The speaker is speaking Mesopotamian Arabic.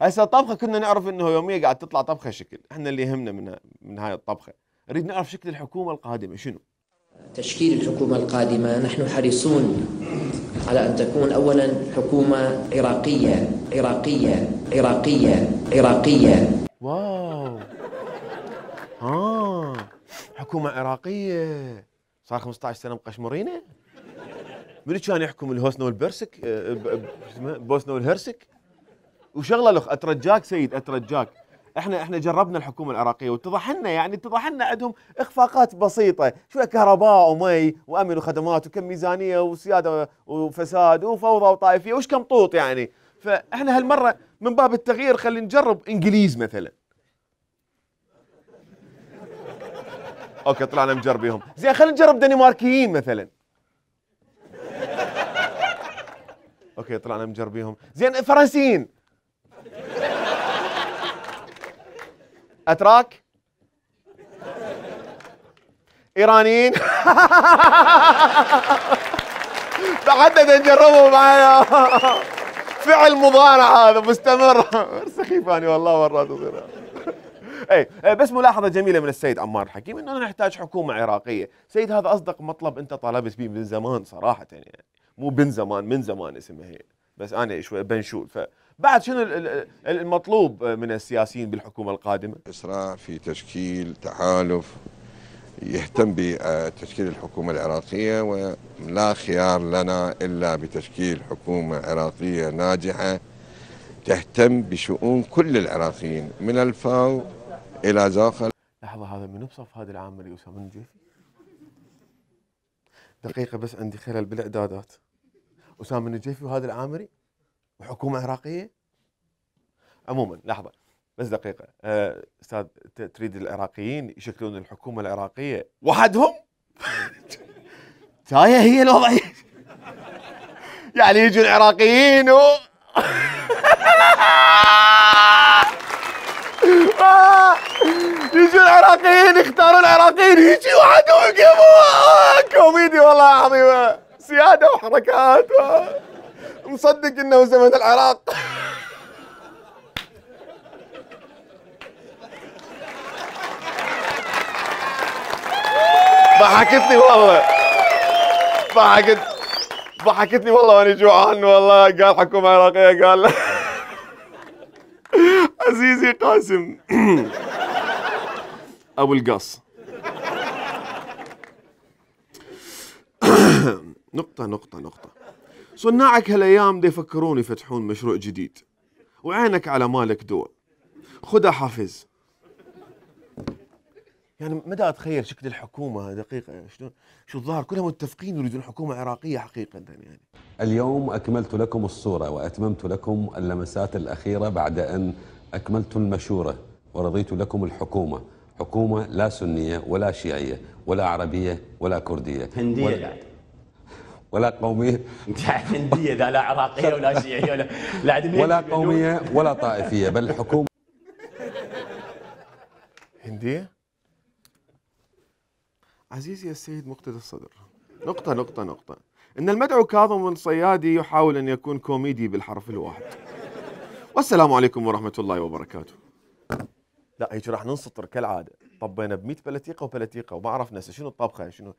هسه الطبخه كنا نعرف انه يوميا قاعد تطلع طبخه شكل، احنا اللي يهمنا من هاي الطبخه، نريد نعرف شكل الحكومه القادمه شنو؟ تشكيل الحكومة القادمة نحن حريصون على أن تكون أولا حكومة عراقية. واو. حكومة عراقية. صار 15 سنة مقشمرينه؟ منو كان يحكم الهوسنة والبرسك؟ بوسنة والهرسك؟ وشغله لخ اترجاك سيد اترجاك، احنا جربنا الحكومه العراقيه واتضح لنا عندهم اخفاقات بسيطه، شويه كهرباء ومي وامن وخدمات وكم ميزانيه وسياده وفساد وفوضى وطائفيه وش كم طوط يعني، فاحنا هالمره من باب التغيير خلينا نجرب انجليز مثلا. اوكي طلعنا مجربيهم، زين خلينا نجرب دنماركيين مثلا. اوكي طلعنا مجربيهم، زين فرنسيين. اتراك، ايرانيين. بعدنا نجربهم معايا. فعل مضارع هذا مستمر. سخيف اني والله مرات تصير. اي بس ملاحظه جميله من السيد عمار الحكيم انه نحتاج حكومه عراقيه، سيد هذا اصدق مطلب انت طالبت به من زمان صراحه يعني، مو من زمان اسمها هي، بس انا شوي بنشول. فبعد شنو المطلوب من السياسيين بالحكومه القادمه؟ اسراع في تشكيل تحالف يهتم بتشكيل الحكومه العراقيه، ولا خيار لنا الا بتشكيل حكومه عراقيه ناجحه تهتم بشؤون كل العراقيين من الفاو الى زاخل. لحظه، هذا منو بصف هذا العامري اسامه النجيفي؟ دقيقه بس عندي خلل بالاعدادات. اسامه النجيفي وهذا العامري وحكومه عراقيه؟ عموما لحظه بس دقيقه، استاذ تريد العراقيين يشكلون الحكومه العراقيه وحدهم؟ هي الوضعيه. يعني يجوا العراقيين يجوا العراقيين يختارون العراقيين يجي وحدهم يقيموا. كوميدي والله عظيمه، سياده وحركات مصدق انه زمن العراق. ضحكتني والله، ضحكتني والله وانا جوعان والله. قال حكومه عراقيه، قال عزيزي قاسم ابو القص. نقطة صناعك هالايام دي يفكرون يفتحون مشروع جديد، وعينك على مالك دول، خذها حافز. يعني مدى اتخيل شكل الحكومه دقيقه شو الظاهر كلهم متفقين يريدون حكومه عراقيه حقيقه يعني. اليوم اكملت لكم الصوره واتممت لكم اللمسات الاخيره بعد ان اكملت المشوره ورضيت لكم الحكومه، حكومه لا سنيه ولا شيعيه ولا عربيه ولا كرديه هنديه ولا قوميه. هنديه لا عراقيه ولا شيعيه ولا قوميه ولا طائفيه، بل حكومه هنديه. عزيزي السيد مقتدى الصدر، نقطة إن المدعو كاظم الصيادي يحاول أن يكون كوميدي بالحرف الواحد. والسلام عليكم ورحمة الله وبركاته. لا هيك راح ننسطر كالعادة، طبينا ب100 بلتيقة وما عرفنا شنو الطبخة شنو